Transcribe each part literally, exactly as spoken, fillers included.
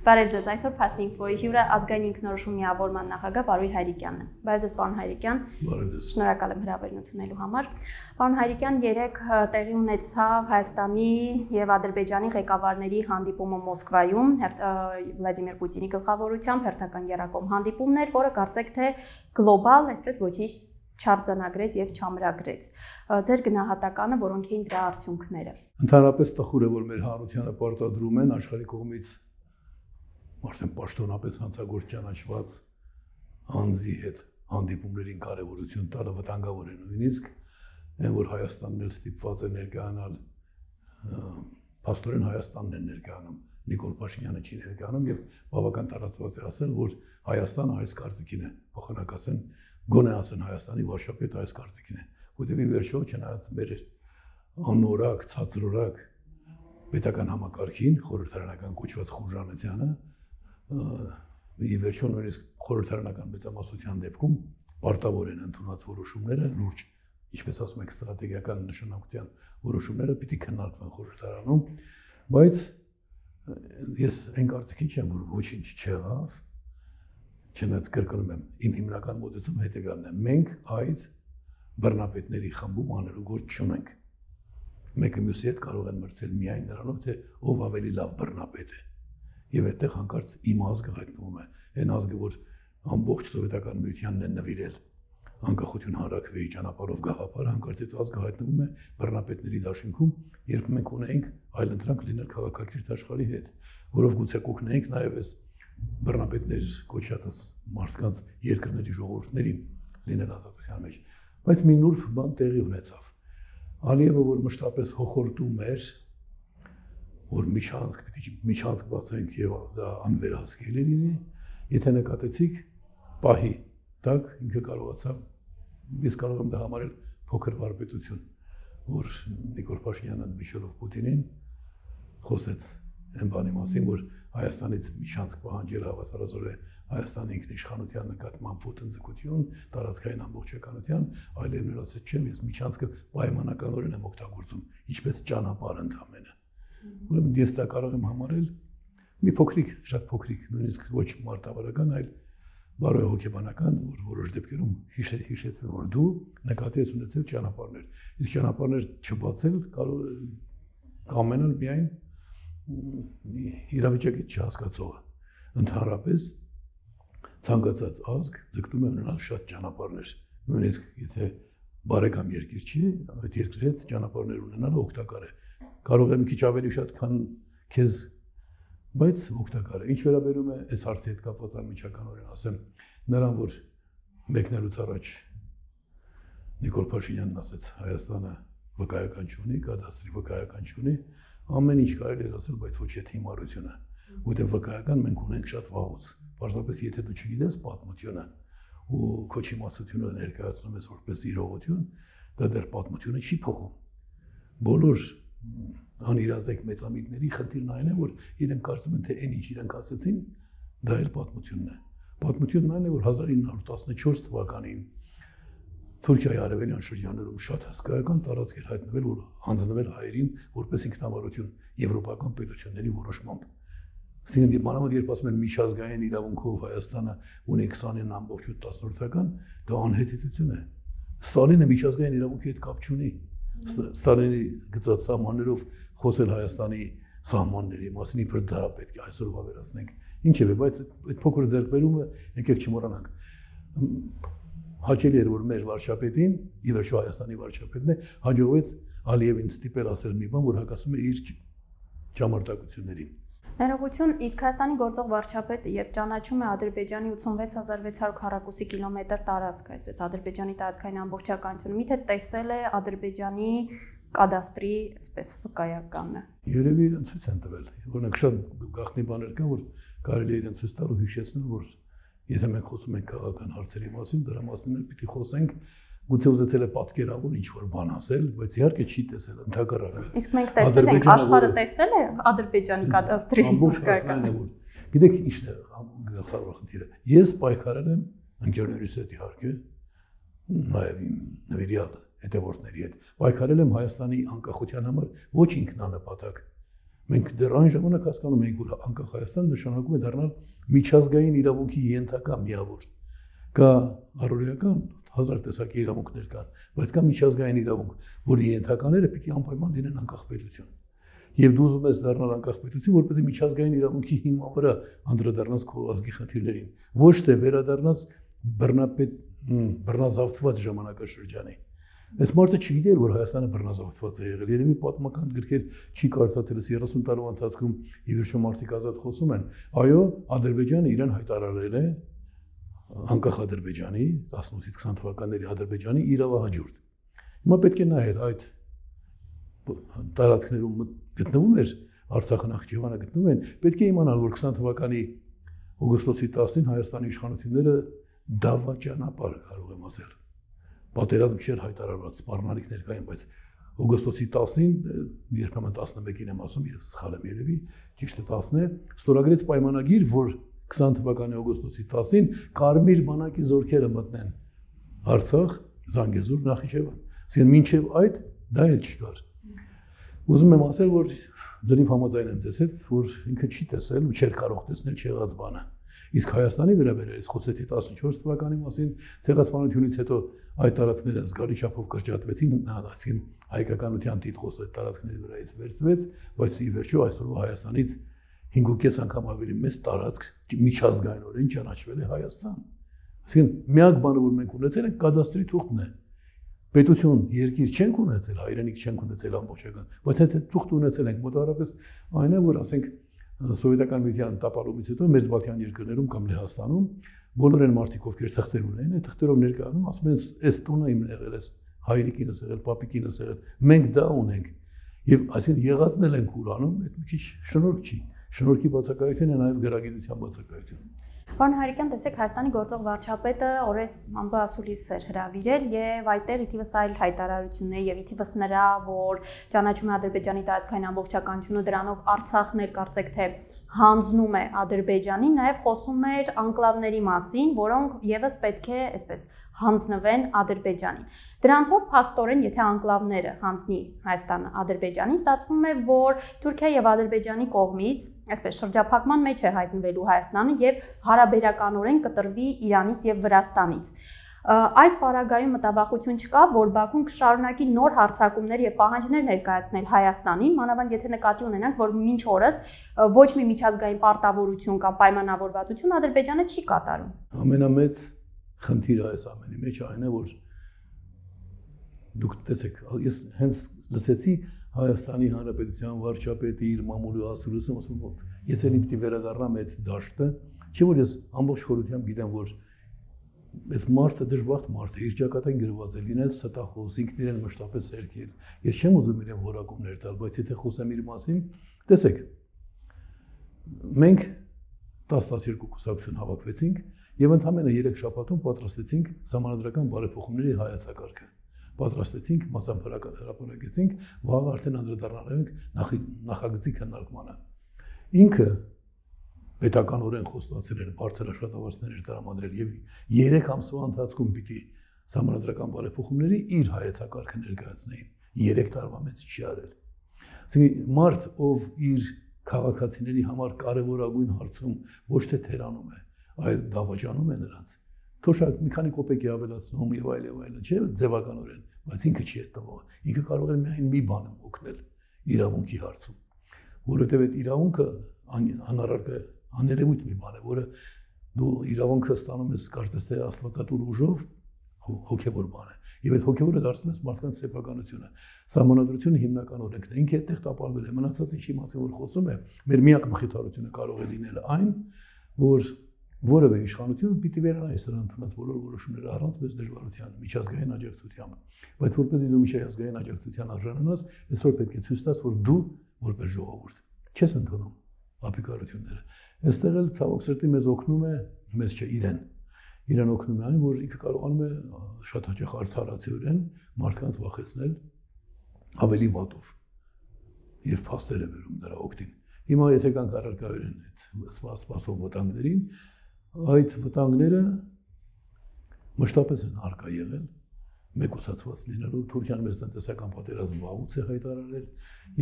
Բարև ձեզ, այսօր Fast Info-ի հյուրը ազգային ինքնորոշում միավորման նախագահ Պարույր Հայրիկյանն է։ Բարև ձեզ, պարոն Հայրիկյան։ Բարև ձեզ։ Շնորհակալ եմ հրավերն ընդունելու համար։ Պարոն Հայրիկյան, երեկ տեղի ունեցավ Հայաստանի եւ Ադրբեջանի ղեկավարների հանդիպումը Մոսկվայում, Վլադիմիր Պուտինի գլխավորությամբ հերթական եռակողմ հանդիպումներ, որը կարծեք թե գլոբալ, այսպես ոչինչ չարձանագրեց եւ չամրագրեց։ Ձեր գնահատականը, որոնք էին դրա արդյունքները։ Ընդհանրապես տխուր է, որ մեր հանրությանը պարտադրում են աշխարհի կողմից արդեն պաշտոնապես հանցագործ ճանաչված անձի հետ հանդիպումներին կարևորություն տալը վտանգավոր է նույնիսկ, այն որ Հայաստանն էլ ստիպված է ներկայանալ, փաստորեն Հայաստանն է ներկայանում, Նիկոլ Փաշինյանը չի ներկայանում եւ բավական տարածված է ասել, որ Հայաստանը այս կարծիքին է, փոխանակ ասեն, գոնե ասեն Հայաստանի վարչապետը այս կարծիքին է, որտեղ ի վերջո չնայած մեր անորակ, ցածրորակ պետական համակարգին, խորհրդարանական կոչված խուժանությանը, ի վերջո նույնիսկ խորհրդարանական մեծամասնության դեպքում պարտավոր են ընդունած որոշումները, լուրջ, ինչպես ասում եք, ստրատեգիական նշանակության որոշումները պիտի քննարկվեն խորհրդարանում, բայց ես այն կարծիքին չեմ, որ ոչինչ չեղավ, չնայած կրկնում եմ, իմ հիմնական մոտեցումը հետևյալն է, մենք այդ բռնապետների խմբում անելու գործ չունենք։ Մեկը մյուսի հետ կարող են մրցել միայն նրանով, թե ով ավելի լավ բռնապետ է։ Եվ այդտեղ հանկարծ իմ ազգը հայտնվում է, այն ազգը, որ ամբողջ սովետական միությանն է նվիրել անկախություն հանրաքվեի ճանապարհով գաղափարը, հանկարծ այդ ազգը հայտնվում է բռնապետների դաշինքում, երբ մենք ունենք այլընտրանք լինել քաղաքակիրթ աշխարհի հետ, որով գուցե կօգնենք նաև այս բռնապետներ կոչած մարդկանց երկրների ժողովուրդներին լինել ազատության մեջ, բայց մի նուրբ բան տեղի ունեցավ։ Ալիևը, որ մշտապես հոխորտում էր, որ միջանցք պիտի միջանցք բացենք եւ դա անվերահսկելի լինի, եթե նկատեցիք պահի տակ ինքը կարողացավ, ես կարող եմ դա համարել փոքր վարպետություն, որ Նիկոլ Փաշինյանը ընդմիջելով Պուտինին խոսեց այն բանի մասին, որ Հայաստանից միջանցք պահանջել հավասարազոր է Հայաստանի ինքնիշխանության նկատմամբ ոտնձգություն, տարածքային ամբողջականության, այլև նորացած չեմ, ես միջանցքը պայմանականորեն եմ օգտագործում, ինչպես ճանապարհ ընդամենը։ Ուրեմն ես դա կարող եմ համարել մի փոքրիկ, շատ փոքրիկ, նույնիսկ ոչ մարտավարական, այլ բարոյ հոգեբանական, որ որոշ դեպքերում հիշեցվի, որ դու նկատի ես ունեցել ճանապարհներ։ Իսկ ճանապարհներ չբացել կարող է կամենալ միայն իրավիճակից չհասկացողը։ Ընդհանրապես ցանկացած ազգ ձգտում է ունենալ շատ ճանապարհներ։ Նույնիսկ եթե բարեկամ երկիր չի, այդ երկրի հետ ճանապարհներ ունենալը օգտակար է։ Կարող է մի քիչ ավելի շատ, քան քեզ, բայց օգտակար է։ Ինչ վերաբերում է այս հարցի հետ կապված անմիջականորեն ասեմ, նրան, որ մեկնելուց առաջ Նիկոլ Փաշինյանն ասեց, Հայաստանը վկայական չունի, կադաստրի վկայական չունի, ամեն ինչ կարելի է ասել, բայց ոչ այդ հիմարությունը, որտեղ վկայական մենք ունենք շատ վաղուց։ Պարզապես եթե դու չգիտես պատմությունը ու քո չիմացությունը ներկայացնում ես որպես իրողություն, դա դեռ պատմությունը չի փոխում։ Բոլոր անիրազեկ մեծամիտների խնդիրն այն է, որ իրենք կարծում են, թե այն ինչ իրենք ասեցին, դա էլ պատմությունն է։ Պատմությունն այն է, որ հազար ինը հարյուր տասնչորս թվականին Թուրքիայի արևելյան շրջաններում շատ հսկայական տարածք էր հայտնվել, որ հանձնվել հայերին որպես ինքնավարություն եվրոպական պետությունների որոշմամբ։ Այսինքն մանավանդ երբ ասում են միջազգային իրավունքով Հայաստանը ունի քսանինը ամբողջ ութ տասնորդական, դա անհեթեթություն է։ Ստալինը միջազգային իրավունքի հետ կապ չունի։ Ստալինի գծած սահմաններով խոսել Հայաստանի սահմանների մասին, իբր դա պետք է այսօր վավերացնենք։ Ինչևէ, բայց այդ փոքր ձեռքբերումը եկեք չմոռանանք։ Հաճելի էր, որ մեր վարչապետին, ի վերջո Հայաստանի վարչապետն է, հաջողվեց Ալիևին ստիպել ասել մի բան, որ հակասում է իր ճամարտակություններին։ Ներողություն, իսկ Հայաստանի գործող վարչապետը, երբ ճանաչում է Ադրբեջանի ութսունվեց հազար վեց հարյուր քառակուսի կիլոմետր տարածք, այսպես Ադրբեջանի տարածքային ամբողջականությունը, միթե տեսել է Ադրբեջանի կադաստրի, այսպես վկայականը։ Երևի իրեն ցույց են տվել, օրինակ շատ գաղտնի բաներ կան, որ կարելի է իրեն ցույց տալ ու հիշեցնել, որ եթե մենք խոսում ենք քաղաքական հարցերի մասին, դրա մասին էլ պիտի խոսենք, գուցե ուզեցել է պատկերավոր ինչ-որ բան ասել, բայց իհարկե չի տեսել, ընդհակառակը։ Իսկ մենք տեսել ենք, աշխարհը տեսել է Ադրբեջանի կադաստրի վկայականը։ Գիտեք ի՞նչն է գլխավոր խնդիրը։ Ես պայքարել եմ ընկերներիս հետ իհարկե, նաև իմ նվիրյալ հետևորդների հետ։ Պայքարել եմ Հայաստանի անկախության համար ոչ ինքնանպատակ, Մենք դեռ այն ժամանակ հասկանում ենք, որ անկախ Հայաստան նշանակում է դառնալ միջազգային իրավունքի ենթակա միավոր։ Կա առօրեական հազար տեսակի իրավունքներ կան, բայց կա միջազգային իրավունք, որի ենթակաները պիտի անպայման լինեն անկախ պետություն։ Եվ դու ուզում ես դառնալ անկախ պետություն, որպեսզի միջազգային իրավունքի հիման վրա անդրադառնաս քո ազգի խնդիրներին, ոչ թե վերադառնաս բռնապետ բռնազավթված ժամանակաշրջանի։ Այս մարդը չգիտեր, որ Հայաստանը բռնազավթված է եղել։ Երևի պատմական գրքեր չի կարդացել, երեսուն տարվա ընթացքում ի վերջո մարդիկ ազատ խոսում են։ Այո, Ադրբեջանը իրեն հայտարարել է անկախ Ադրբեջանի տասնութից քսան թվականների Ադրբեջանի իրավահաջորդ։ Հիմա պետք է նայել այդ տարածքներում գտնվում էր Արցախը, Նախիջևանը գտնվում են, պետք է իմանալ, որ քսան թվականի օգոստոսի տասին Հայաստանի իշխանությունները դավաճանապար կարող եմ ասել։ Պատերազմ չէր հայտարարված, սպառնալիքներ կային, բայց օգոստոսի տասին, երբեմն տասնմեկին եմ ասում, եւ սխալ եմ երևի, ճիշտը տասն է, ստորագրեց պայմանագիր, որ քսան թվականի օգոստոսի տասին կարմիր բանակի զորքերը մտնեն Արցախ, Զանգեզուր, Նախիջևան։ Այսինքն մինչև այդ դա էլ չկար։ Ուզում եմ ասել, որ լրիվ համաձայն եմ ձեզ հետ, որ ինքը չի տեսել ու չէր կարող տեսնել չեղած բանը։ Իսկ Հայաստանի վերաբերյալ խոսեցի տասնչորս թվականի մասին, ցեղասպանությունից հետո այդ տարածքները զգալի չափով կրճատվեցին, այսինքն հայկականության տիտղոսը այդ տարածքների վրայից վերցվեց, բայց ի վերջո այսօրվա Հայաստանից հինգ ու կես անգամ ավելի մեծ տարածք միջազգայինորեն ճանաչվել է Հայաստան։ Այսինքն միակ բանը, որ մենք ունեցել ենք, կադաստրի թուղթն է։ Պետություն, երկիր չենք ունեցել, հայրենիք չենք ունեցել ամբողջական, բայց այդ թուղթ ունեցել ենք մոտավորապես այն է, որ ասենք Սովետական միության տապալումից հետո Մերձբալթյան երկրներում կամ Լեհաստանում բոլոր այն մարդիկ, ովքեր թղթեր ունեն, այդ թղթերով ներկայանում, ասում են, «Էս տունը իմն եղել է, հայրիկինս եղել, պապիկինս եղել»։ Մենք դա ունենք։ Եվ այսինքն եղածն էլ ենք ուրանում, այդ մի քիչ շնորհք չի։ Շնորհքի բացակայություն է նաև գրագիտության բացակայություն։ Պարոն Հարիկյան, տեսեք, Հայաստանի գործող վարչապետը օրես Մամբասուլիս էր հրավիրել եւ այդտեղ իթիվս այլ հայտարարություններ եւ իթիվս նրա, որ ճանաչում է Ադրբեջանի տարածքային ամբողջականությունը, դրանով Արցախն էլ կարծեք թե հանձնում է Ադրբեջանին, նաեւ խոսում էր անկլավների մասին, որոնք եւս պետք է, այսպես, հանձնվեն Ադրբեջանին։ Դրանցով փաստորեն, եթե անկլավները հանձնի Հայաստանը Ադրբեջանին, ստացվում է, որ Թուրքիա եւ Ադրբեջանի կողմից, այսպես շրջափակման մեջ է հայտնվելու Հայաստանը եւ հարաբերականորեն կտրվի Իրանից եւ Վրաստանից։ Այս պարագայում մտավախություն չկա, որ Բաքուն կշարունակի նոր հարձակումներ եւ պահանջներ ներկայացնել Հայաստանին, մանավանդ եթե նկատի ունենանք, որ մինչ օրս ոչ մի միջազգային պարտավորություն կամ պայմանավորվածություն Ադրբեջանը չի կատարում։ Ամենամեծ խնդիրը այս ամենի մեջ այն է, որ դուք տեսեք, ես հենց լսեցի Հայաստանի Հանրապետության վարչապետի իր մամուլի ասելությունը, ասում եմ, ես էլի պիտի վերադառնամ այդ դաշտը, չէ՞ որ ես ամբողջ խորությամբ գիտեմ, որ այս մարդը դժբախտ մարդ է, իր ճակատին գրված է լինել ստախոս, ինքն իրեն մշտապես հերքել։ Ես չեմ ուզում իրեն որակումներ տալ, բայց եթե խոսեմ իր մասին, տեսեք, մենք տասը տասներկու կուսակցություն հավաքվեցինք եւ ընդամենը երեք շաբաթում պատրաստեցինք համանդրական բարեփոխումների հայեցակարգը։ Պատրաստեցինք, մասամբ հրապարակեցինք, վաղ արդեն անդրադառնալ ենք նախագծի քննարկմանը։ Ինքը պետականորեն խոստացել էր, բարձր աշխատավարձներ էր տրամադրել եւ երեք ամսվա ընթացքում պիտի համանդրական բարեփոխումների իր հայեցակարգը ներկայացնեին։ երեք տարվա մեջ չի արել։ Այսինքն մարդ, ով իր քաղաքացիների համար կարևորագույն հարցում ոչ թե թերանում է, այլ դավաճանում է նրանց, թոշակ մի քանի կոպեկի ավելացնում եւ այլ եւ այլն, չէ՞ ձևականորեն, բայց ինքը չի այդ տվողը։ Ինքը կարող է միայն մի բան օգնել իրավունքի հարցում, որովհետեւ այդ իրավունքը անառարկա աներևույթ մի բան է, որը դու իրավունքը ստանում ես կարծես թե աստվածատուր ուժով, հոգեվոր բան է։ Եվ այդ հոգեվորը դարձնում ես մարդկանց սեփականությունը։ Սահմանադրությունը հիմնական օրենքն է, ինքը այդտեղ տապալվել է, մնացած ինչի մասին որ խոսում է, մեր միակ մխիթարությունը կարող է լինել այն, որ որևէ իշխանություն պիտի վերանայի սրան ընդունած բոլոր որոշումները առանց մեծ դժվարության, միջազգային աջակցությամբ։ Բայց որպեսզի դու միջազգային աջակցության արժանանաս, այսօր պետք է ցույց տաս, որ դու որպես ժողովուրդ չես ընդունում ապիկարությունները։ Այստեղ էլ ցավոք սրտի մեզ օգնում է, մեզ չէ իրեն։ Իրեն օգնում է այն, որ ինքը կարողանում է շատ հաճախ արդարացիորեն մարդկանց վախեցնել ավելի վատով եւ փաստեր է վերում դրա օգտին։ Հիմա եթե կան առարկայորեն այդ սպասող վտանգներին, այդ վտանգները մշտապես են արկա եղել, մեկուսացված լինելով, Թուրքիան մեծ տնտեսական պատերազմ վաղուց է հայտարարել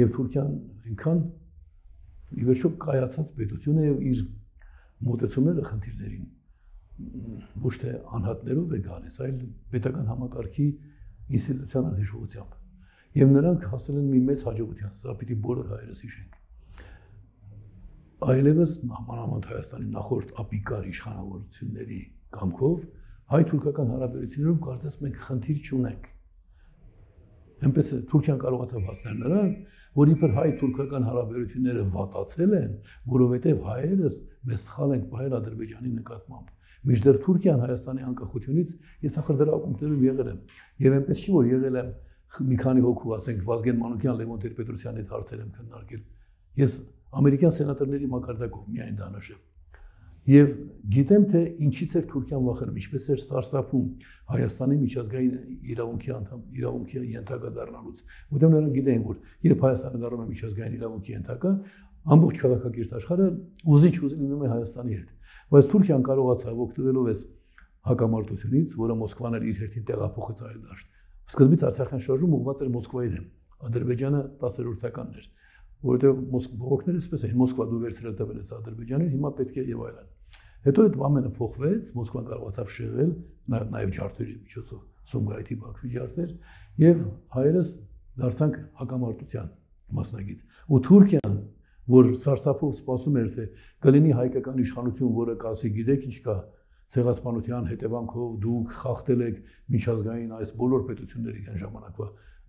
եւ Թուրքիան այնքան ի վերջո կայացած պետություն է եւ իր մոտեցումները խնդիրներին ոչ թե անհատներով է գալիս, այլ պետական համակարգի ինստիտուցիոնալ հիշողությամբ։ Եվ նրանք հասել են մի մեծ հաջողության, սա պիտի բոլոր հայերս հիշենք։ Այլևս մանավանդ Հայաստանի նախորդ ապիկար իշխանավորությունների կամքով հայ-թուրքական հարաբերություններում կարծես մենք խնդիր չունենք։ Այնպես է Թուրքիան կարողացավ հասնել նրան, որ իբր հայ-թուրքական հարաբերությունները վատացել են, որովհետև հայերս մեզ սխալ ենք պահել Ադրբեջանի նկատմամբ։ Մինչդեռ Թուրքիան Հայաստանի անկախությունից ես ախր դրա ակումբներում եղել եմ։ Եվ այնպես չի, որ եղել եմ մի քանի հոգու, ասենք Վազգեն Մանուկյան, Լևոն Տեր-Պետրոսյանի հետ հարցեր եմ քննարկել։ Ես ամերիկյան սենատորների մակարդակով միայն դա նշեմ։ Եվ գիտեմ, թե ինչից էր Թուրքիան վախենում, ինչպես էր սարսափում Հայաստանի միջազգային իրավունքի անդամ, իրավունքի ենթակա դառնալուց։ Որտեղ նրանք գիտեին, որ երբ Հայաստանը դառնում է միջազգային իրավունքի ենթակա, ամբողջ քաղաքակիրթ աշխարհը ուզիչ-ուզի լինում է Հայաստանի հետ։ Բայց Թուրքիան կարողացավ օգտվելով այս հակամարտությունից, որը Մոսկվան էր իր հերթին տեղափոխեց այլ դաշտ։ Սկզբից Արցախյան շարժում ուղղված էր Մոսկվայի դեմ, Ադրբեջանը տասներորդականն էր, որովհետև բողոքները այսպես էին, Մոսկվա դու վերցրել տվել ես Ադրբեջանին, հիմա պետք է եւ այլն։ Հետո այդ ամենը փոխվեց, Մոսկվան կարողացավ շեղել, նաեւ ջարդերի միջոցով, Սումգայիթի Բաքվի ջարդեր, եւ հայերս դարձանք հակամարտության մասնագիծ։ Ու Թուրքիան, որ սարսափով սպասում էր, թե կլինի հայկական իշխանություն, որը կասի, գիտեք ինչ կա, ցեղասպանության հետևանքով դուք խախտել եք միջազգային այս բոլոր պետությունների այն ժամանակվա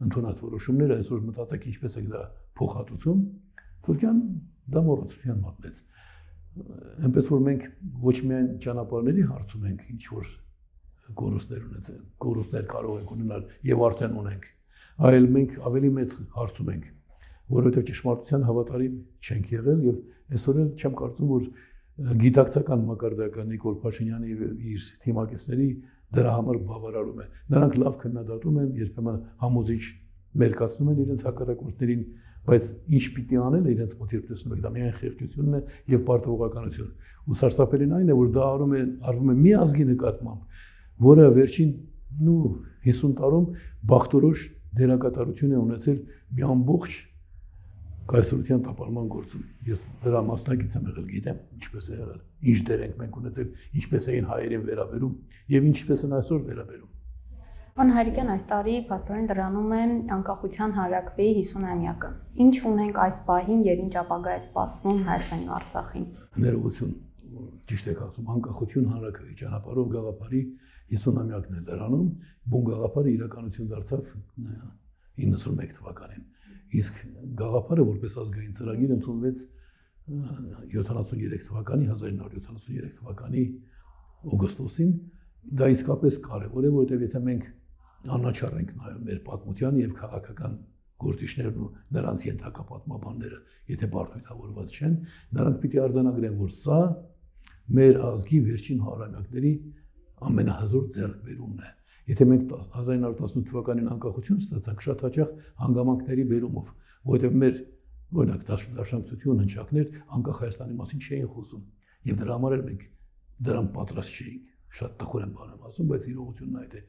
ընդունած որոշումները, այսօր մտածեք ինչպես եք դա փոխհատուցում, Թուրքիան դա մոռացության մատնեց։ Այնպես որ մենք ոչ միայն ճանապարհների հարցում ենք, ինչ որ կորուստներ ունեցել, կորուստներ կարող ենք ունենալ եւ արդեն ունենք, այլ մենք ավելի մեծ հարցում ենք, որովհետեւ ճշմարտության հավատարիմ չենք եղել եւ այսօր էլ չեմ կարծում, որ գիտակցական մակարդակը Նիկոլ Փաշինյանի եւ իր թիմակիցների դրա համար բավարարում է։ Նրանք լավ քննադատում են, երբեմն համոզիչ մերկացնում են իրենց հակառակորդներին, բայց ինչ պիտի անել իրենց մոտ երբ տեսնում եք, դա միայն խեղճությունն է եւ պարտավորականություն։ Ու սարսափելին այն է, որ դա արվում է արվում է մի ազգի նկատմամբ, որը վերջին նու հիսուն տարում բախտորոշ դերակատարություն է ունեցել մի ամբողջ կայսրության տապալման գործում։ Ես դրա մասնակից եմ եղել, գիտեմ ինչպես է եղել, ինչ դեր ենք մենք ունեցել, ինչպես էին հայերին վերաբերում եւ ինչպես են այսօր վերաբերում։ Պարոն Հայրիկյան, այս տարի փաստորեն դրանում է անկախության հանրաքվեի հիսունամյակը։ Ինչ ունենք այս պահին եւ ինչ ապագա է սպասվում Հայաստանի ու Արցախին։ Ներողություն, ճիշտ եք ասում, անկախություն հանրաքվեի ճանապարհով գաղափարի հիսունամյակն է դրանում, բուն գաղափարը իրականություն դարձավ իննսունմեկ թվականին։ Իսկ գաղափարը որպես ազգային ծրագիր ընդունվեց յոթանասուներեք թվականի հազար ինը հարյուր յոթանասուներեք թվականի օգոստոսին, դա իսկապես կարևոր է, որովհետև եթե մենք անաչառ ենք նայում մեր պատմության եւ քաղաքական գործիչներն ու նրանց ենթակա պատմաբանները, եթե բարդույթավորված չեն, նրանք պիտի արձանագրեն, որ սա մեր ազգի վերջին հարյուրամյակների ամենահզոր ձեռքբերումն է։ Եթե մենք հազար ինը հարյուր տասնութ թվականին անկախություն ստացանք, շատ հաճախ հանգամանքների բերումով, որովհետև մեր օրինակ դաշնակցություն հնչակներ անկախ Հայաստանի մասին չէին խոսում, եւ դրա համար էլ մենք դրան պատրաստ չէինք։ Շատ տխուր եմ բան եմ ասում, բայց իրողությունն այդ է։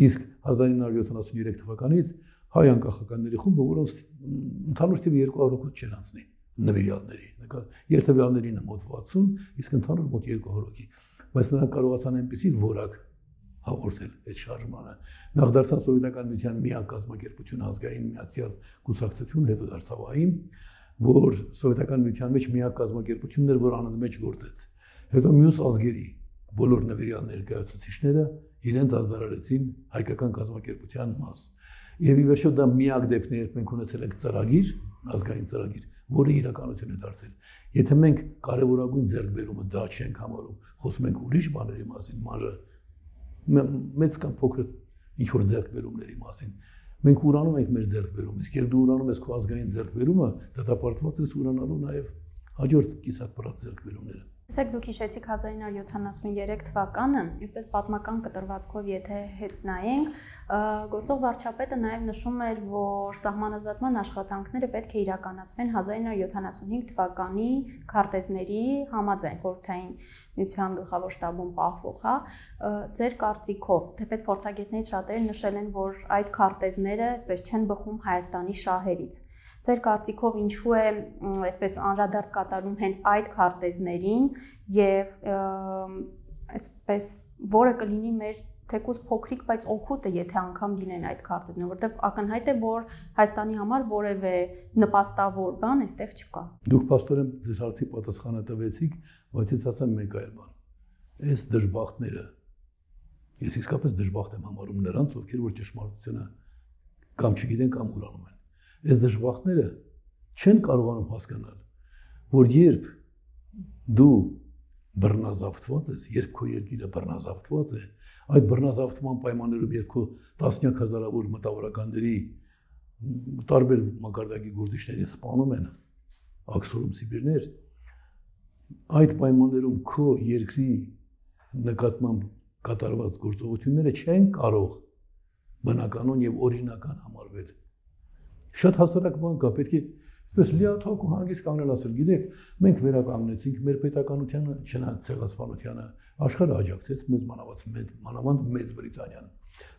Իսկ հազար ինը հարյուր յոթանասուներեք թվականից հայ անկախականների խումբը, որոնց ընդհանուր թիվը երկու հարյուր հոգուց չեն անցնի նվիրյալների, երթևյալներին մոտ վաթսուն, իսկ ընդհանուր մոտ երկու հարյուր հոգի, բայց նրանք կարողացան այնպիսի որակ հաղորդել այդ շարժմանը։ Նախ դարձան սովետական միության միակ կազմակերպություն ազգային միացյալ կուսակցություն, հետո դարձավ ԱԻՄ, որ սովետական միության մեջ միակ կազմակերպությունն էր, որ անընդմեջ գործեց։ Հետո մյուս ազգերի բոլոր նվիրյալ ներկայացուցիչները իրենց ազդարարեցին հայկական կազմակերպության մաս։ Եվ ի վերջո դա միակ դեպքն է, երբ մենք ունեցել ենք ծրագիր, ազգային ծրագիր, որը իրականություն է դարձել։ Եթե մենք կարևորագույն ձեռքբերումը դա չենք համարում, խոսում ենք ուրիշ բաների մասին, մանր մեծ կամ փոքր ինչ որ ձեռքբերումների մասին։ Մենք ուրանում ենք մեր ձեռքբերումը, իսկ երբ դու ուրանում ես քո ազգային ձեռքբերումը, դատապարտված ես ուրանալու նաև հաջորդ կիսապրատ ձեռքբերումները։ Տեսեք, դուք հիշեցիք հազար ինը հարյուր յոթանասուներեք թվականը, այսպես պատմական կտրվածքով եթե հետ նայենք, գործող վարչապետը նաև նշում էր, որ սահմանազատման աշխատանքները պետք է իրականացվեն հազար ինը հարյուր յոթանասունհինգ թվականի քարտեզների համաձայն, խորհրդային միության գլխավոր շտաբում պահվող, հա, ձեր կարծիքով, թեպետ փորձագետներից շատերը նշել են, որ այդ քարտեզները այսպես չեն բխում Հայաստանի շահերից։ Ձեր կարծիքով ինչու է այսպես անդրադարձ կատարում հենց այդ քարտեզներին եւ այսպես որը կլինի մեր թեկուզ փոքրիկ, բայց օգուտը, եթե անգամ լինեն այդ քարտեզները, որովհետեւ ակնհայտ է, որ Հայաստանի համար որևէ նպաստավոր բան այստեղ չկա։ Դուք փաստորեն ձեր հարցի պատասխանը տվեցիք, բայց ես ասեմ մեկ այլ բան։ Այս դժբախտները ես իսկապես դժբախտ եմ համարում նրանց, ովքեր որ ճշմարտությունը կամ չգիտեն կամ ուրանում են։ Այս դժբախտները չեն կարողանում հասկանալ, որ երբ դու բռնազավթված ես, երբ քո երկիրը բռնազավթված է, այդ բռնազավթման պայմաններում երբ քո տասնյակ հազարավոր մտավորականների տարբեր մակարդակի գործիչների սպանում են աքսորում Սիբիրներ, այդ պայմաններում քո երկրի նկատմամբ կատարված գործողությունները չեն կարող բնականon եւ օրինական համարվել։ Շատ հասարակ բան կա, պետք է այսպես լիաթոք ու հանգիստ կանգնել ասել, գիտեք, մենք վերականգնեցինք մեր պետականությանը, չնայած ցեղասպանությանը, աշխարհը աջակցեց մեզ մանավանդ Մեծ Բրիտանիան։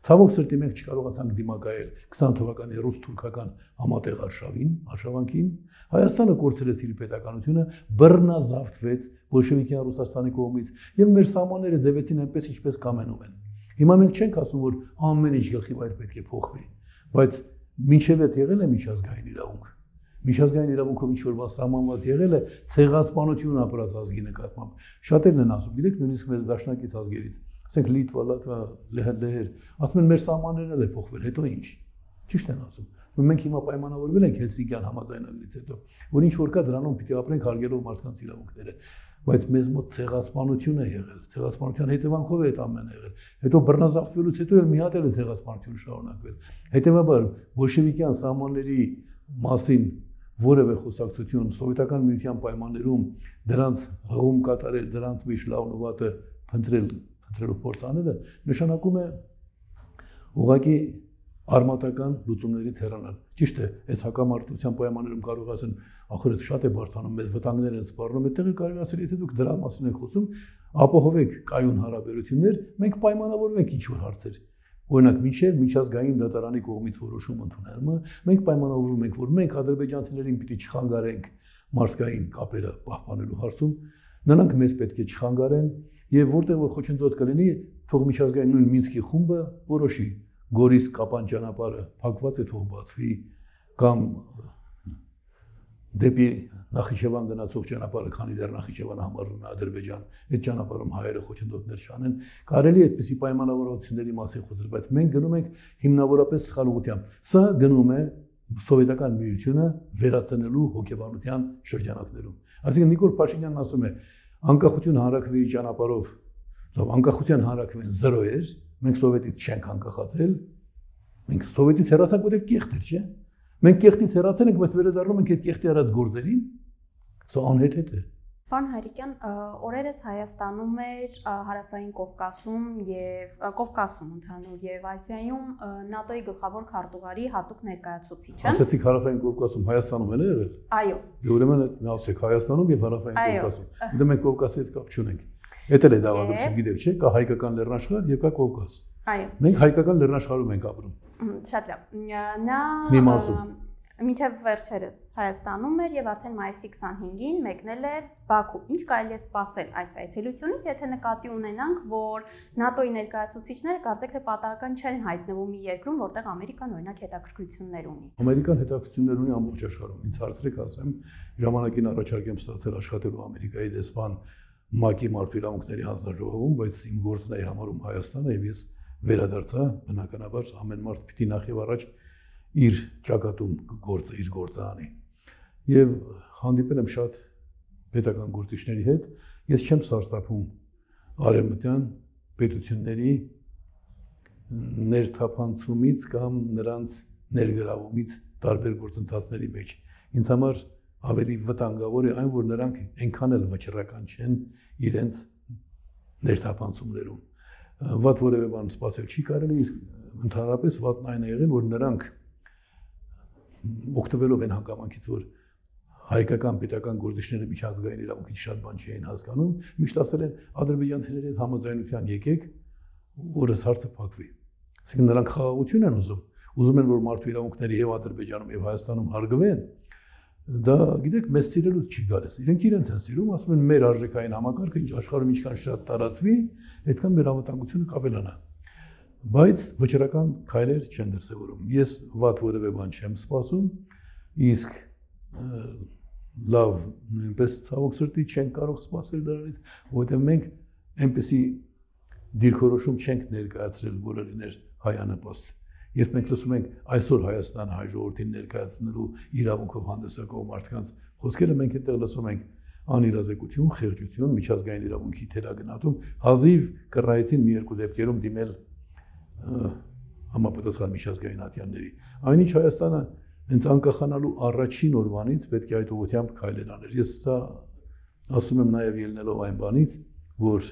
Ցավոք սրտի մենք չկարողացանք դիմակայել քսան թվականի ռուս-թուրքական համատեղ արշավին, արշավանքին, Հայաստանը կորցրեց իր պետականությունը, բռնազավթվեց բոլշևիկյան Ռուսաստանի կողմից եւ մեր սահմանները ձևեցին այնպես, ինչպես կամենում են։ Հիմա մենք չենք ասում, որ ամեն ինչ գլխի վայր պետք է փոխվի, բայց մինչև այդ եղել է միջազգային իրավունք։ Միջազգային իրավունքով ինչ որ բան սահմանված եղել է ցեղասպանություն ապրած ազգի նկատմամբ։ Շատերն են ասում, գիտեք, նույնիսկ մեզ դաշնակից ազգերից, ասենք Լիտվա, Լատվիա, Լեհեր, ասում են մեր սահմաններն էլ է փոխվել, հետո ինչ։ Ճիշտ են ասում։ Մենք հիմա պայմանավորվել ենք Հելսինկյան համաձայնագրից հետո, որ ինչ որ կա դրանում պիտի ապրենք հարգելով մարդկանց իրավունքները, բայց մեզ մոտ ցեղասպանություն է եղել, ցեղասպանության հետևանքով է այդ ամենը եղել։ Հետո բռնազավթվելուց հետո էլ մի հատ էլ է ցեղասպանություն շարունակվել։ Հետևաբար բոլշևիկյան սահմանների մասին որևէ խոսակցություն սովետական միության պայմաններում դրանց հղում կատարել, դրանց մեջ լավն ու վատը փնտրել, փնտրելու փորձ անելը նշանակում է ուղղակի արմատական լուծումներից հեռանալ։ Ճիշտ է, այս հակամարտության պայմաններում կարող ասեն, ախր շատ է բարդանում, մեզ վտանգներ են սպառնում, այդտեղ կարող ասել, եթե դուք դրա մասին եք խոսում, ապահովեք կայուն հարաբերություններ, մենք պայմանավորվենք ինչ-որ հարցեր։ Օրինակ, մինչև միջազգային դատարանի կողմից որոշում ընդունելը, մենք պայմանավորվում ենք, որ մենք ադրբեջանցիներին պիտի չխանգարենք մարդկային կապերը պահպանելու հարցում, նրանք մեզ պետք է չխանգարեն, եւ որտեղ որ խոչընդոտ կլինի, թող միջազգային նույն Մինսկի խումբը որոշի Գորիս Կապան ճանապարհը փակված է, թող բացվի, կամ դեպի Նախիջևան գնացող ճանապարհը, քանի դեռ Նախիջևանը համարվում է Ադրբեջան, այդ ճանապարհում հայերը խոչընդոտներ չանեն, կարելի է այդպիսի պայմանավորվածությունների մասին խոսել, բայց մենք գնում ենք հիմնավորապես սխալ ուղղությամբ։ Սա գնում է սովետական միությունը վերածնելու հոգեբանության շրջանակներում։ Այսինքն Նիկոլ Փաշինյանն ասում է, անկախություն հանրաքվեի ճանապարհով, անկախության հանրաքվեն զրո էր, մենք սովետից չենք անկախացել, մենք սովետից հեռացանք, որտեղ կեղտ էր, չէ՞։ Մենք կեղտից հեռացել ենք, բայց վերադառնում ենք այդ կեղտի արած գործերին, սա անհեթեթ է։ Պարոն Հայրիկյան, օրերս Հայաստանում էր Հարավային Կովկասում եւ Կովկասում ընդհանուր եւ Ասիայում ՆԱՏՕ-ի գլխավոր քարտուղարի հատուկ ներկայացուցիչը։ Ասացիք Հարավային Կովկասում, Հայաստանում էլ է եղել։ Այո։ Դե ուրեմն ասեք Հայաստանում եւ Հարավային Կովկասում։ Դե մենք Կովկասի հետ կապ չունենք։ Էդ էլ է դավադրություն, գիտեք, չէ՞, կա հայկական լեռնաշխարհ եւ կա Կովկաս։ Այո։ Մենք հայկական լեռնաշխարհում ենք ապրում։ Շատ լավ։ Նա մի մասում մինչև վերջերս Հայաստանում էր եւ արդեն մայիսի քսանհինգին մեկնել էր Բաքու։ Ինչ կարելի է սպասել այս այցելությունից, եթե նկատի ունենանք, որ ՆԱՏՕ-ի ներկայացուցիչները կարծեք թե պատահական չեն հայտնվում մի երկրում, որտեղ Ամերիկան օրինակ հետաքրքրություններ ունի։ Ամերիկան հետաքրքրություններ ունի ամբողջ աշխարհում։ Ինձ հարցրեք, ասեմ, ժամանակին առաջարկ եմ ստացել աշխատելու Ամերիկայի դեսպան ՄԱԿ-ի մարդու իրավունքների հանձնաժողովում, բայց իմ գործն է համարում Հայաստանը եւ ես վերադարձա, բնականաբար ամեն մարդ պիտի նախ եւ առաջ իր ճակատում գործը իր գործը անի։ Եվ հանդիպել եմ շատ պետական գործիչների հետ, ես չեմ սարսափում արևմտյան պետությունների ներթափանցումից կամ նրանց ներգրավումից տարբեր գործընթացների մեջ։ Ինձ համար ավելի վտանգավոր է այն, որ նրանք այնքան էլ վճռական չեն իրենց ներթափանցումներում։ Վատ որևէ բան սպասել չի կարելի, իսկ ընդհանրապես վատն այն է եղել, որ նրանք օգտվելով են հանգամանքից, որ հայկական պետական գործիչները միջազգային իրավունքից շատ բան չէին հասկանում, միշտ ասել են ադրբեջանցիների հետ համաձայնության եկեք, որս հարցը փակվի։ Այսինքն նրանք խաղաղություն են ուզում, ուզում են որ մարդու իրավունքները եւ Ադրբեջանում եւ Հայաստանում հարգվեն, դա գիտեք մեզ սիրելուց չի գալիս։ Իրենք իրենց են սիրում, ասում են մեր արժեքային համակարգը ինչ աշխարհում ինչքան շատ տարածվի, այդքան մեր անվտանգությունը կավելանա։ Բայց վճռական քայլեր չեն դրսևորում։ Ես վատ որևէ բան չեմ սպասում, իսկ լավ նույնպես ցավոք սրտի չեն կարող սպասել դրանից, որովհետև մենք այնպեսի դիրքորոշում չենք ներկայացրել, որը լիներ հայանպաստ։ Երբ մենք լսում ենք այսօր Հայաստանը հայ ժողովրդին ներկայացնելու իրավունքով հանդես եկող մարդկանց խոսքերը, մենք այդտեղ լսում ենք անիրազեկություն, խեղճություն, միջազգային իրավունքի թերագնահատում, հազիվ կռայեցին մի երկու դեպքերում դիմել համապատասխան միջազգային ատյանների։ Այնինչ Հայաստանը հենց անկախանալու առաջին օրվանից պետք է այդ ուղղությամբ քայլեր աներ։ Ես սա ասում եմ նաև ելնելով այն բանից, որ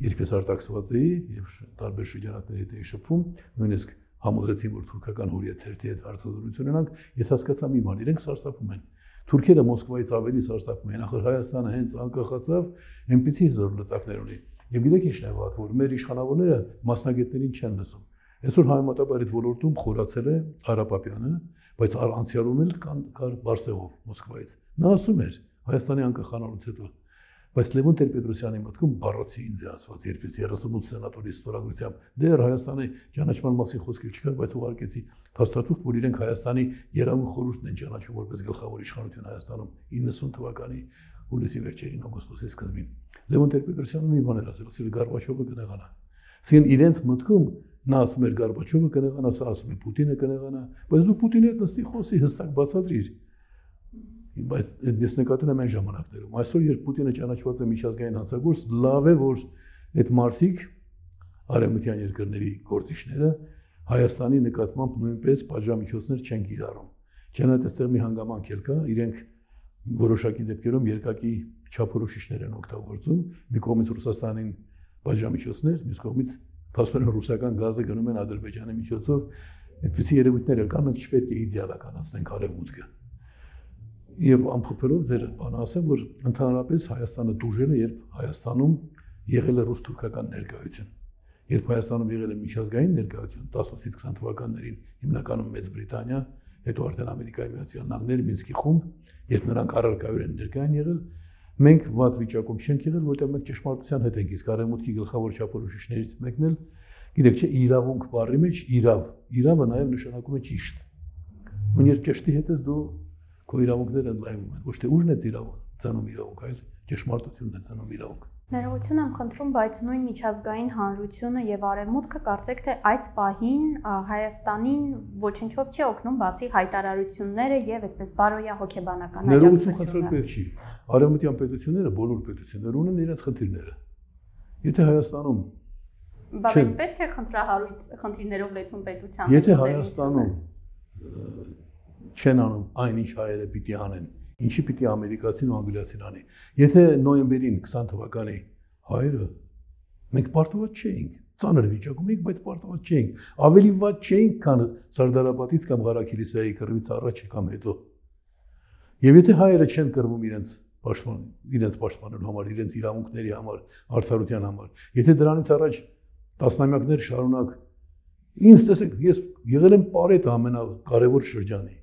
երբ ես արտաքսված էի եւ տարբեր շրջանակների հետ էի շփվում, նույնիսկ համոզեցին, որ թուրքական հուրիեթերթի հետ հարցազրույց ունենանք, ես հասկացա մի բան, իրենք սարսափում են։ Թուրքերը Մոսկվայից ավելի սարսափում են, ախր Հայաստանը հենց անկախացավ, այնպիսի հզոր լծակներ ունի։ Եվ գիտեք ինչն է վատ, որ մեր իշխանավորները մասնագետներին չեն լսում։ Այսօր համեմատաբար այդ ոլորտում խորացել է Արա Պապյանը, բայց անցյալում էլ կար Բարսեղով Մոսկվայից։ Նա ասում էր Հայաստանի անկախանալուց հետո, բայց Լևոն Տեր-Պետրոսյանի մտքում բառացի ինձ է ասված, երբ ես երեսունութ սենատորի ստորագրությամբ դեռ Հայաստանի ճանաչման մասին խոսք չկար, բայց ուղարկեցի փաստաթուղթ, որ իրենք Հայաստանի Երևան խորհուրդն են ճանաչում որպես գլխավոր իշխանություն Հայաստանում իննսուն թվականի հուլիսի վերջերին, օգոստոսի սկզբին։ Լևոն Տեր-Պետրոսյանը մի բան էր ասել, ասել Գորբաչովը կնեղանա։ Սին իրենց մտքում նա ասում էր Գորբաչովը կնեղանա, սա ասում է Պուտինը կնեղանա, բայց դու Պուտինի հետ նստի խոսի հստակ բացատրիր։ Բայց ես նկատում եմ այն ժամանակներում։ Այսօր երբ Պուտինը ճանաչված է միջազգային հանցագործ, լավ է որ այդ մարդիկ արևմտյան երկրների գործիչները Հայաստանի նկատմամբ նույնպես պատժամիջոցներ չեն կիրառում։ Չնայած այստեղ մի հանգամանք էլ կա, իրենք որոշակի դեպքերում երկակի չափորոշիչներ են օգտագործում, մի կողմից Ռուսաստանին պատժամիջոցներ, մյուս կողմից փաստորեն ռուսական գազը գնում են Ադրբեջանի միջոցով, այդպիսի երևույթներ կան, մենք չպետք է իդեալականացնենք արևմուտքը։ Եվ ամփոփելով ձեր բանը ասեմ, որ ընդհանրապես Հայաստանը դուժել է, երբ Հայաստանում եղել է ռուս-թուրքական ներկայություն։ Երբ Հայաստանում եղել է միջազգային ներկայություն տասնութից քսան թվականներին, հիմնականում Մեծ Բրիտանիա, հետո արդեն Ամերիկայի Միացյալ Նահանգները, Մինսկի խումբ, երբ նրանք առարկայորեն ներկայ են եղել, մենք վատ վիճակում չենք եղել, որտեղ մենք ճշմարտության հետ ենք, իսկ արևմուտքի գլխավոր չափորոշիչներից մեկն էլ, գիտեք չէ, իրավունք բառի մեջ իրավ, իրավը նաև նշանակում է ճիշտ։ Ու երբ ճշտի հետ ես դու քո իրավունքները ընդլայնվում են, ոչ թե ուժն է ծնում իրավունք, այլ ճշմարտությունն է ծնում իրավունք։ Ներողություն եմ խնդրում, բայց նույն միջազգային հանրությունը եւ արևմուտքը կարծեք թե այս պահին Հայաստանին ոչինչով չի օգնում, բացի հայտարարությունները եւ այսպես բարոյա հոգեբանական աջակցությունը։ Ներողություն խնդրել պետք չի։ Արևմտյան պետությունները, բոլոր պետությունները ունեն իրենց խնդիրները։ Եթե Հայաստանում բայց պետք է խնդրահարույց խնդիրներով լեցուն պետության։ Եթե Հայաստանում չեն անում այնինչ հայերը պիտի անեն, ինչի պիտի ամերիկացին ու անգլիացին անի։ Եթե նոյեմբերին քսան թվականի հայերը մենք պարտված չէինք, ծանր վիճակում էինք, բայց պարտված չէինք, ավելի վատ չէինք, քան Սարդարապատից կամ Ղարաքիլիսայի կռվից առաջ կամ հետո։ Եվ եթե հայերը չեն կռվում իրենց պաշտպան, իրենց պաշտպանելու համար, իրենց իրավունքների համար, արդարության համար, եթե դրանից առաջ տասնամյակներ շարունակ ինձ տեսեք, ես եղել եմ պարետ ամենակարևոր շրջանի։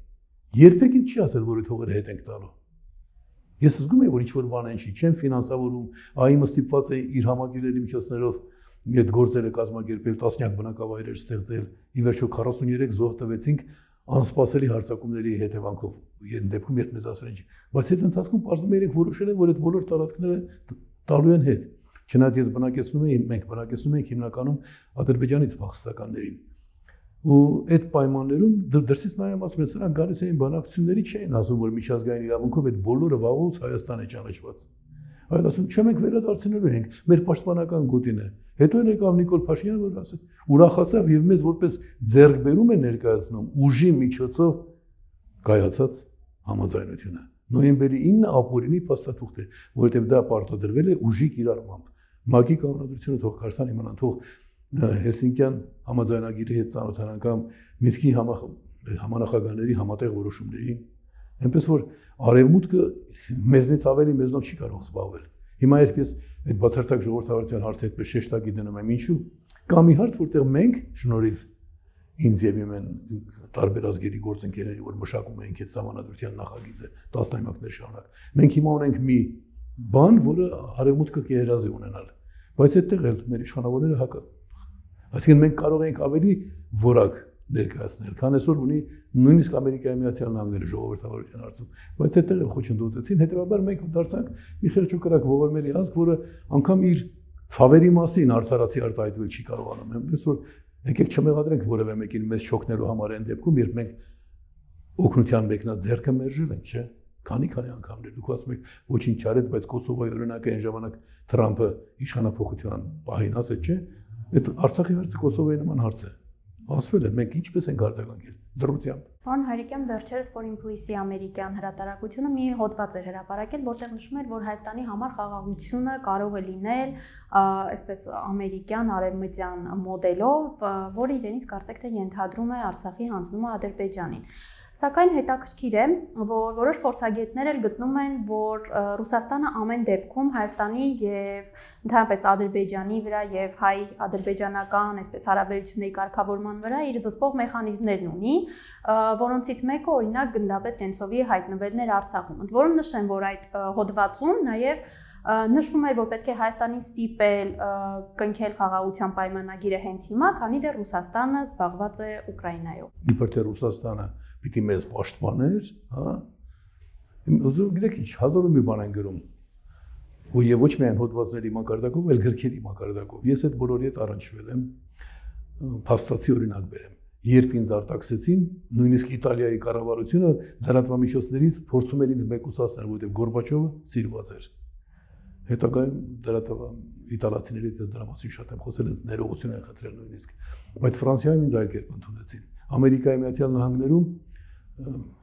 Երբեք ինձ չի ասել, որ այդ հողերը հետ ենք տալու։ Ես զգում եմ, որ ինչ-որ բան են չի, չեմ ֆինանսավորում, ԱԻՄ-ը ստիպված է իր համագիրների միջոցներով այդ գործերը կազմակերպել, տասնյակ բնակավայրեր ստեղծել, ի վերջո քառասուններեք զոհ տվեցինք անսպասելի հարձակումների հետևանքով, երբ դեպքում երբ մեզ ասել են, բայց այդ ընթացքում պարզվում է իրենք որոշել են, որ այդ բոլոր տարածքները տալու են հետ։ Չնայած ես բնակեցնում եմ, մենք բնակեցնում ենք հիմնականում Ադրբեջանից փախստականներին։ Ու այդ պայմաններում դրսից նայում ասում են, սրանք գալիս էին բանակցությունների չէին ասում, որ միջազգային իրավունքով այդ բոլորը վաղուց Հայաստան է ճանաչված։ Այլ ասում, չէ մենք վերադարձնելու ենք, մեր պաշտպանական գոտին է։ Հետո էլ եկավ Նիկոլ Փաշինյանը, որ ասել, ուրախացավ եւ մեզ որպես ձեռքբերում է ներկայացնում ուժի միջոցով կայացած համաձայնությունը։ Նոյեմբերի ինը ապօրինի փաստաթուղթ է, որովհետեւ դա պարտադրվել է ուժի կիրառմամբ։ ՄԱԿ-ի կանոնադրությունը թող քարտան իմանան, թող Հելսինկյան համաձայնագիրի հետ ծանոթանան կամ Մինսկի համանախագահների համատեղ որոշումներին, այնպես որ արևմուտքը մեզնից ավելի մեզնով չի կարող զբաղվել։ Հիմա երբ ես այդ բացարձակ ժողովրդավարության հարցը այդպես շեշտակի դնում եմ, ինչու՞։ Կամ մի հարց, որտեղ մենք շնորհիվ ինձ եւ իմ տարբեր ազգերի գործընկերների, որ մշակում ենք այդ համանadrության նախագիծը տասնամյակներ շարունակ։ Մենք հիմա ունենք մի բան, որը արևմուտքը կերազի ունենալ, բայց այդտեղ էլ մեր իշխանավորները հակա։ Այսինքն մենք կարող ենք ավելի որակ ներկայացնել, քան այսօր ունի նույնիսկ Ամերիկայի Միացյալ Նահանգները ժողովրդավարության հարցում, բայց այդտեղ էլ խոչընդոտեցին, հետեւաբար մենք դարձանք մի խեղճուկրակ ողորմելի ազգ, որը անգամ իր ցավերի մասին արդարացի արտահայտվել չի կարողանում։ Այնպես որ եկեք չմեղադրենք որևէ մեկին մեզ չօգնելու համար այն դեպքում, երբ մենք օգնության մեկնած ձեռքը մերժել ենք, չէ՞։ Քանի-քանի անգամներ դուք ասում եք ոչինչ չարեց, բայց Կոսովոյի օրինակը այն ժամանակ Թրամփը իշխանափոխության պահին ասեց, չէ՞։ Այդ Արցախի հարցը Կոսովոյի նման հարց է։ Ասվել է, մենք ինչպես ենք արձագանքել դրությամբ։ Պարոն Հայրիկյան, վերջերս Foreign Policy ամերիկյան հրատարակությունը մի հոդված էր հրապարակել, որտեղ նշում էր, որ Հայաստանի համար խաղաղությունը կարող է լինել այսպես ամերիկյան արևմտյան մոդելով, որը իրենից կարծեք թե ենթադրում է Արցախի հանձնումը Ադրբեջանին։ Սակայն հետաքրքիր է, որ որոշ փորձագետներ էլ գտնում են, որ Ռուսաստանը ամեն դեպքում Հայաստանի եւ ընդհանրապես Ադրբեջանի վրա եւ հայ-ադրբեջանական այսպես հարաբերությունների կարգավորման վրա իր զսպող մեխանիզմներն ունի, որոնցից մեկը օրինակ գնդապետ Նենցովի հայտնվելն էր Արցախում։ Ընդ որում նշեմ, որ այդ հոդվածում նաեւ նշվում էր, որ պետք է Հայաստանին ստիպել կնքել խաղաղության պայմանագիրը հենց հիմա, քանի դեռ Ռուսաստանը զբաղված է Ուկրաինայով։ Իբր թե Ռուսաստանը պիտի մեզ պաշտպաներ, հա։ Ուզում գիտեք ինչ, հազարով մի բան են գրում։ Ու եւ ոչ միայն հոդվածների մակարդակով, այլ գրքերի մակարդակով։ Ես այդ բոլորի հետ առնչվել եմ, փաստացի օրինակ բերեմ։ Երբ ինձ արտաքսեցին, նույնիսկ Իտալիայի կառավարությունը լրատվամիջոցներից փորձում էր ինձ մեկուսացնել, որովհետեւ Գորբաչովը սիրված էր։ Հետագայում դրատվա իտալացիների դες դրա մասին շատ եմ խոսել, ներողություն են խնդրել նույնիսկ, բայց Ֆրանսիայում ինձ այլ կերպ ընդունեցին։ Ամերիկայի Միացյալ Նահանգներում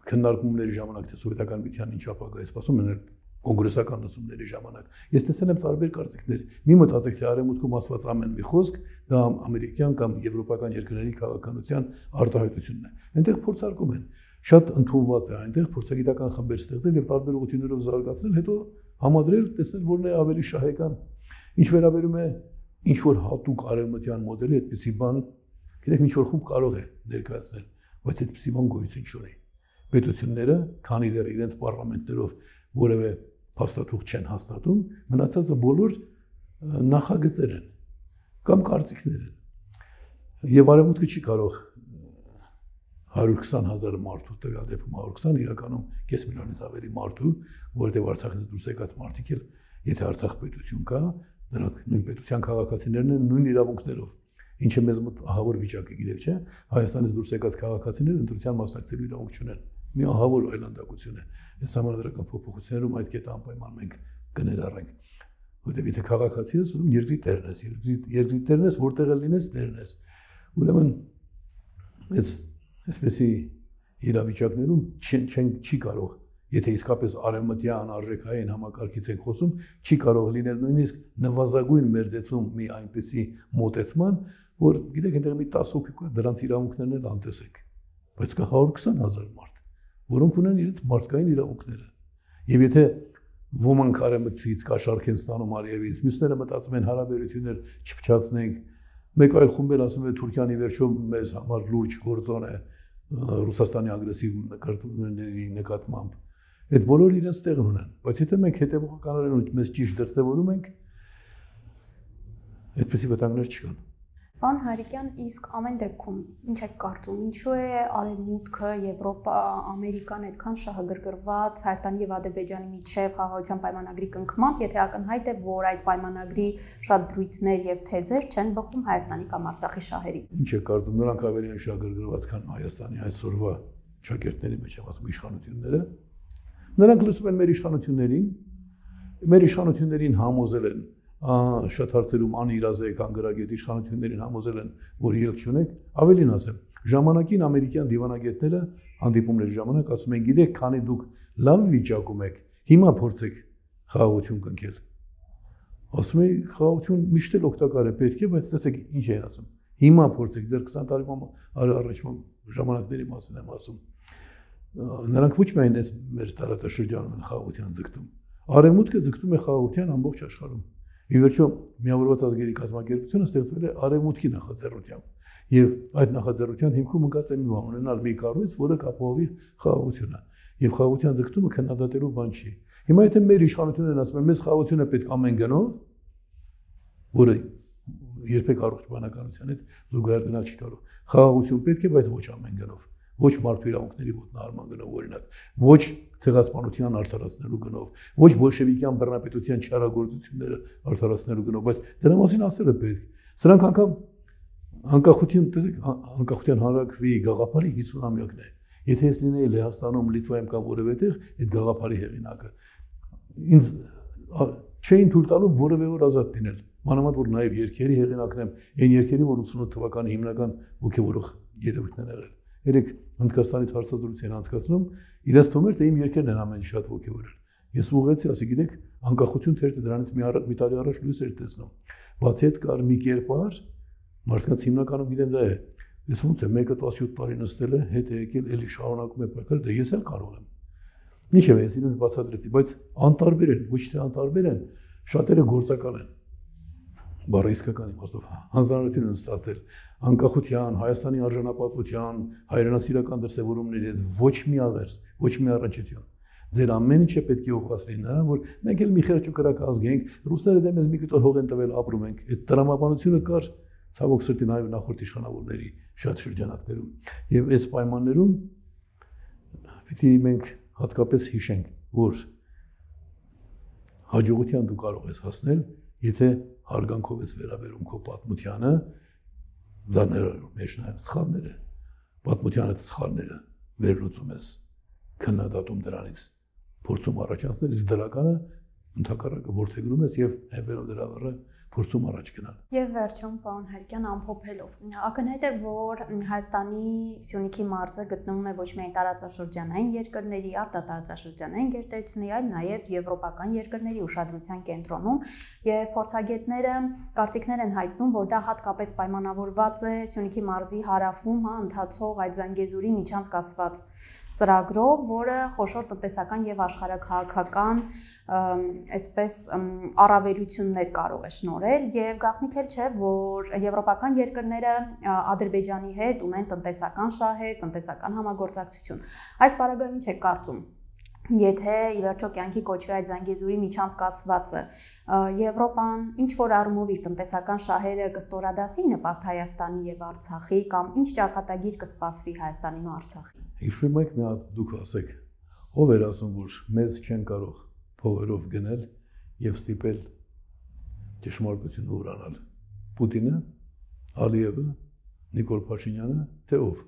քննարկումների ժամանակ թե սովետական միության ինչ ապագա է սպասում են կոնգրեսական լսումների ժամանակ։ Ես տեսել եմ տարբեր կարծիքներ։ Մի մտածեք, թե արևմուտքում ասված ամեն մի խոսք դա ամերիկյան կամ եվրոպական երկրների քաղաքականության արտահայտությունն է։ Այնտեղ փորձարկում են, շատ ընդունված է այնտեղ փորձագիտական խմբեր ստեղծել եւ տարբեր ուղղություններով զարգացնել, հետո համադրել, տեսնել որն է ավելի շահեկան։ Ինչ վերաբերում է ինչ որ հատուկ արևմտյան մոդելի, այդպիսի բան, գիտեք, ինչ որ խումբ կարող է ներկայացնել, բայց այդպիսի բան գոյություն չունի։ Պետությունները, քանի դեռ իրենց պարլամենտներով որևէ փաստաթուղթ չեն հաստատում, մնացածը բոլոր նախագծեր են կամ կարծիքներ են։ Եվ արևմուտքը չի կարող հարյուր քսան հազար մարդու տվյալ դեպքում հարյուր քսան իրականում կես միլիոնից ավելի մարդու, որովհետև Արցախից դուրս եկած մարդիկ էլ, եթե Արցախ պետություն կա, նրանք նույն պետության քաղաքացիներն են նույն իրավունքներով, ինչը մեզ մոտ ահավոր վիճակ է, գիտեք, չէ՞։ Հայաստանից դուրս եկած քաղաքացիները ընտրության մասնակցելու իրավունք չունեն։ Մի ահավոր այլանդակություն է։ Այս համանդրական փոփոխություններում այդ կետը անպայման մենք կներառենք։ Որտեղ եթե քաղաքացի ես, ուրեմն երկրի տերն ես, երկրի տերն ես, որտեղ էլ լինես տերն ես։ Ուրեմն այս այսպեսի իրավիճակներում չեն չի կարող, եթե իսկապես արևմտյան արժեքային համակարգից ենք խոսում, չի կարող լինել նույնիսկ նվազագույն մերձեցում մի այնպեսի մոտեցման, որ գիտեք, այնտեղ մի տասը հոգի կա, դրանց իրավունքներն էլ անտեսենք, բայց կա հարյուր քսան հազար մարդ, որոնք ունեն իրենց մարդկային իրավունքները։ Եվ եթե ոմանք արևմտից կաշառք են ստանում Արիևից, մյուսները մտածում են հարաբերություններ չփչացնենք, մեկ այլ խումբ էլ ասում է Թուրքիան ի վերջո մեզ համար լուրջ գործոն է Ռուսաստանի ագրեսիվ նկատմամբ նկատմամբ։ Այդ բոլորը իրենց տեղն ունեն, բայց եթե մենք հետևողականորեն մեզ ճիշտ դրսևորում ենք, այդպիսի վտանգներ չկան։ Պարոն Հայրիկյան, իսկ ամեն դեպքում ինչ եք կարծում, ինչու է Արևմուտքը, Եվրոպա, Ամերիկան այդքան շահագրգռված Հայաստանի եւ Ադրբեջանի միջև խաղաղության պայմանագրի կնքմամբ, եթե ակնհայտ է, որ այդ պայմանագրի շատ դրույթներ եւ թեզեր չեն բխում Հայաստանի կամ Արցախի շահերից։ Ինչ եք կարծում, նրանք ավելի են շահագրգռված, քան Հայաստանի այսօրվա շակերտների մեջ եմ ասում իշխանությունները։ Նրանք լսում են մեր իշխանություններին, մեր իշխանություններին համոզել են շատ հարցերում անիրազեկ անգրագետ իշխանություններին համոզել են, որ ելք չունեք, ավելին ասեմ, ժամանակին ամերիկյան դիվանագետները հանդիպումների ժամանակ ասում են, գիտեք, քանի դուք լավ վիճակում եք, հիմա փորձեք խաղաղություն կնքել։ Ասում են, խաղաղություն միշտ էլ օգտակար է, պետք է, բայց տեսեք ինչ են ասում։ Հիմա փորձեք, դեռ քսան տարի առաջ ժամանակների մասին եմ ասում։ Նրանք ոչ միայն այս մեր տարածաշրջանում են խաղաղության ձգտում, արևմուտքը ձգտում է խաղաղության ամբողջ աշխարհում։ Ի վերջո միավորված ազգերի կազմակերպությունը ստեղծվել է արևմուտքի նախաձեռնությամբ եւ այդ նախաձեռնության հիմքում ընկած է մի բան ունենալ մի կառույց, որը կապահովի խաղաղությունը եւ խաղաղության ձգտումը քննադատելու բան չի։ Հիմա եթե մեր իշխանությունն են ասում, մեզ խաղաղությունը պետք ամեն գնով, որը երբեք առողջ բանականության հետ զուգահեռ գնալ չի կարող։ Խաղաղություն պետք է, բայց ոչ ամեն գնով։ Ոչ մարդու իրավունքների ոտնահարման գնով, օրինակ, ոչ ցեղասպանության արդարացնելու գնով, ոչ բոլշևիկյան բռնապետության չարագործությունները արդարացնելու գնով, բայց դրա մասին ասելը պետք։ Սրանք անգամ անկախություն, տեսեք, անկախության հանրաքվի գաղափարի հիսունամյակն է։ Եթե ես լինեի Լեհաստանում, Լիտվայում կամ որևէ տեղ, այդ գաղափարի հեղինակը ինձ չէին թույլ տալու որևէ օր ազատ լինել։ Մանավանդ որ նաև երկերի հեղինակն եմ, այն երկերի, որ ութսունութ թվականի հիմնական ոգևորող երևույթն են եղել։ Երեք Հնդկաստանից հարցազրույց են անցկացնում, իրենց թվում էր, թե իմ երկերն են ամեն շատ ոգևորել։ Ես ուղղեցի, ասի գիտեք, անկախություն թերթը դրանից մի առ մի տարի առաջ լույս էր տեսնում։ Բացի այդ կար մի կերպար, մարդկանց հիմնականում գիտեն դա է։ Ես ոնց է մեկը տասնյոթ տարի նստել է, հետ է եկել, էլի շարունակում է պայքարել, դե ես էլ կարող եմ։ Ինչևէ, ես իրենց բացատրեցի, բայց անտարբեր են, ոչ թե անտարբեր են, շատերը գործակալ են։ Բառը իսկական իմաստով հանձնարարություն են ստացել անկախության, Հայաստանի արժանապատվության, հայրենասիրական դրսևորումների հետ ոչ մի աղերս, ոչ մի առնչություն։ Ձեր ամեն ինչը պետք է ուղղված լինի նրան, որ մենք էլ մի խեղճ ու կրակ ազգ ենք, ռուսները դե մեզ մի կտոր հող են տվել, ապրում ենք։ Այդ տրամաբանությունը կար ցավոք սրտի նաև նախորդ իշխանավորների շատ շրջանակներում։ Եվ այս պայմաններում պիտի մենք հատկապես հիշենք, որ հաջողության դու կարող ես հասնել, եթե հարգանքով ես վերաբերում քո պատմությանը, դա մեր նաև սխալները, պատմությանը սխալները վերլուծում ես, քննադատում դրանից, փորձում առաջացնել, իսկ դրականը ընդհակառակը որդեգրում ես եւ հետեւելով դրա վրա փորձում առաջ գնալ։ Եվ վերջում, պարոն Հարիկյան, ամփոփելով, ակնհայտ է, որ Հայաստանի Սյունիքի մարզը գտնվում է ոչ միայն տարածաշրջանային երկրների, արտատարածաշրջանային գերտերությունների, այլ նաև եվրոպական երկրների ուշադրության կենտրոնում, եւ փորձագետները կարծիքներ են հայտնում, որ դա հատկապես պայմանավորված է Սյունիքի մարզի հարավում, հա, ընթացող այդ Զանգեզուրի միջանց կասված ծրագրով, որը խոշոր տնտեսական եւ աշխարհաքաղաքական այսպես առավելություններ կարող է շնորհել եւ գաղտնիք էլ չէ, որ եվրոպական երկրները Ադրբեջանի հետ ունեն տնտեսական շահեր, տնտեսական համագործակցություն։ Այս բaragայում ինչ է կարծում, եթե ի վերջո կյանքի կոչվի այդ Զանգեզուրի միջանց կասվածը, Եվրոպան ինչ որ առումով իր տնտեսական շահերը կստորադասի նպաստ Հայաստանի եւ Արցախի, կամ ինչ ճակատագիր կսպասվի Հայաստանին ու Արցախին։ Հիշում եք, մի հատ դուք ասեք, ով էր ասում, որ մեզ չեն կարող փողերով գնել եւ ստիպել ճշմարտությունը ուրանալ։ Պուտինը, Ալիևը, Նիկոլ Փաշինյանը, թե ով։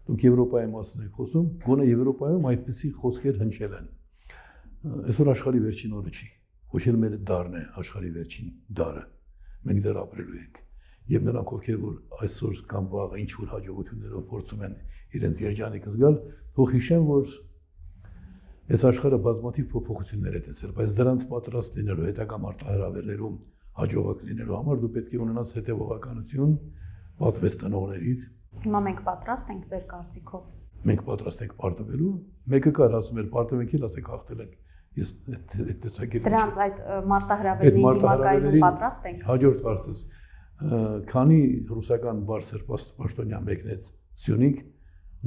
Դուք Եվրոպայի մասին եք խոսում, գոնե Եվրոպայում այդպիսի խոսքեր հնչել են։ Այսօր աշխարհի վերջին օրը չի, ոչ էլ մեր դարն է աշխարհի վերջին դարը։ Մենք դեռ ապրելու ենք։ Եվ նրանք, ովքեր որ այսօր կամ վաղը ինչ որ հաջողություններով փորձում են իրենց երջանիկը զգալ, թող հիշեն, որ այս աշխարհը բազմաթիվ փոփոխություններ է տեսել, բայց դրանց պատրաստ լինելու հետագա մարտահրավերներում հաջողակ լինելու համար դու պետք է ունենաս հետևողականություն, պատվես տնողներից։ Հիմա մենք պատրաստ ենք ձեր կարծիքով։ Մենք պատրաստ ենք պարտվելու, մեկը կար ասում էր պարտվենք էլ, ասեք հաղթել ենք։ Ես այդ տեսակետից դրանց այդ մարտահրավերների դիմակայելու պատրաստ ենք։ Հաջորդ հարցս, քանի ռուսական բարձր պաշտոնյա մեկնեց Սյունիք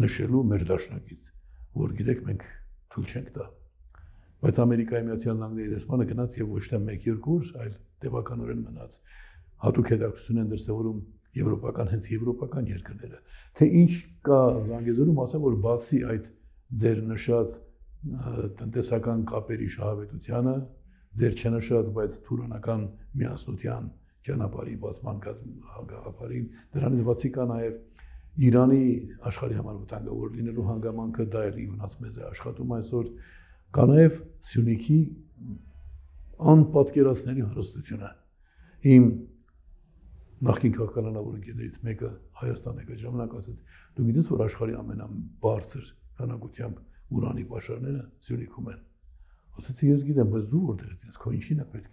նշելու մեր դաշնակից, որ գիտեք մենք թույլ չենք տա։ Բայց Ամերիկայի Միացյալ Նահանգների դեսպանը գնաց եւ ոչ թե մեկ երկու օր, այլ տևականորեն մնաց։ Հատուկ հետաքրքրություն են դրսևորում եվրոպական, հենց եվրոպական երկրները, թե ինչ կա Զանգեզուրում, ասեմ, որ բացի այդ ձեր նշած տնտեսական կապերի շահավետությանը, ձեր չնշած, բայց թուրանական միասնության ճանապարհի բացման գաղափարին, դրանից բացի կա նաև Իրանի աշխարհի համար վտանգավոր լինելու հանգամանքը, դա էլ իվնաց մեզ է աշխատում այսօր, կա նաև Սյունիքի անպատկերացնելի հարստությունը։ Իմ նախկին քաղաքականավոր ընկերներից մեկը Հայաստան եկա ժամանակ ասաց, դու գիտես, որ աշխարհի ամենաբարձր քանակությամբ ուրանի պաշարները Սյունիքում են։ Ասացի, ես գիտեմ, բայց դու որտեղից ես, քո ինչին է պետք։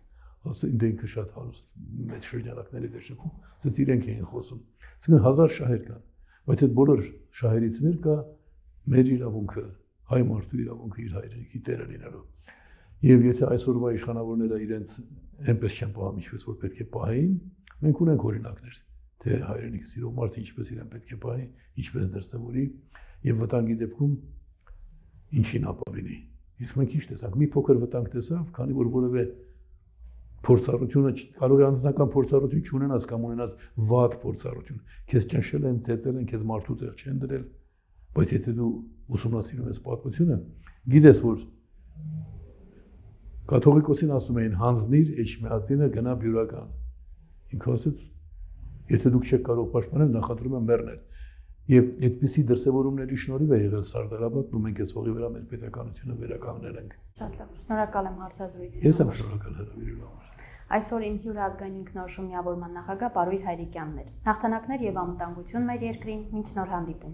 Ասացի, ինձ ինքը շատ հարուստ մեծ շրջանակների դաշտում, ասաց իրենք էին խոսում։ Այսինքն հազար շահեր կան, բայց այդ բոլոր շահերից վեր կա մեր իրավունքը, հայ մարդու իրավունքը իր հայրենիքի տերը լինելու։ Եվ եթե այսօրվա իշխանավորները իրենց այնպես չեն պահում, ինչպես որ պետք է պահեին, մենք ունենք օրինակներ, թե հայրենիքը սիրող մարդը ինչպես իրեն պետք է պահի, ինչպես դրսևորի եւ վտանգի դեպքում ինչին ապավինի։ Իսկ մենք ինչ տեսանք, մի փոքր վտանգ տեսավ, քանի որ որևէ փորձառությունը կարող է անձնական փորձառություն չունենաս կամ ունենաս վատ փորձառություն։ Քեզ ճնշել են, ծեծել են, քեզ մարդու տեղ չեն դրել, բայց եթե դու ուսումնասիրում ես պատմությունը, գիտես որ կաթողիկոսին ասում էին հանձնիր էջմիածինը գնա բյուրական։ Ինքը ասեց, եթե դուք չեք կարող պաշտպանել, նախադրում եմ մեռնել։ Եվ այդպիսի դրսևորումների շնորհիվ է եղել Սարդարապետն ու մենք այս հողի վրա մեր պետականությունը վերականգնել ենք։ Շատ լավ։ Շնորհակալ եմ հարցազրույցի։ Ես եմ շնորհակալ հրավիրելու համար։ Այսօր իմ հյուր ազգային ինքնորոշում միավորման նախագահ Պարույր Հայրիկյանն էր։ Հաղթանակներ եւ անվտանգություն մեր երկրին, մինչ նոր հանդիպում։